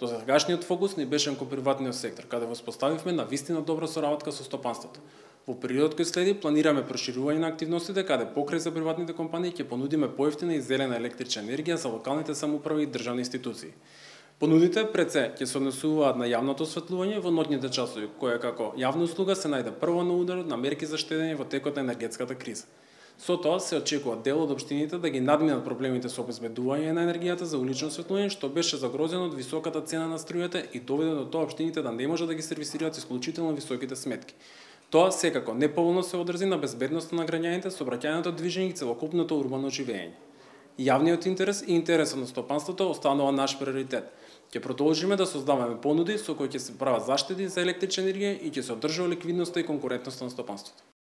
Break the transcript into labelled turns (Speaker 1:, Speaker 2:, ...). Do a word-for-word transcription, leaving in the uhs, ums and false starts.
Speaker 1: Досегашниот фокус не беше кон приватниот сектор, каде воспоставивме на вистина добра соработка со стопанството. Во периодот кој следи планираме проширување на активностите каде покрај за приватните компании ќе понудиме поевтина и зелена електрична енергија за локалните самоуправи и државни институции. Понудите пред се ќе се однесуваат на јавното осветлување во ноќните часови, која како јавна услуга се најде прво на ударот на мерки за штедење во текот на енергетската криза. Со тоа се очекува дел од општините да ги надминат проблемите со обезбедување на енергијата за улично осветлување, што беше загрозено од високата цена на струјата и доведе до тоа општините да не можат да ги сервисираат исклучително високите сметки. Тоа секако неповолно се одрзи на безбедноста на граѓаните, сообраќајното движење и целокупното урбано живење. Јавниот интерес и интересот на стопанството останува наш приоритет. Ќе продолжиме да создаваме понуди со кои ќе се прават заштеди за електрична енергија и ќе се одржува ликвидноста и конкурентноста на стопанството.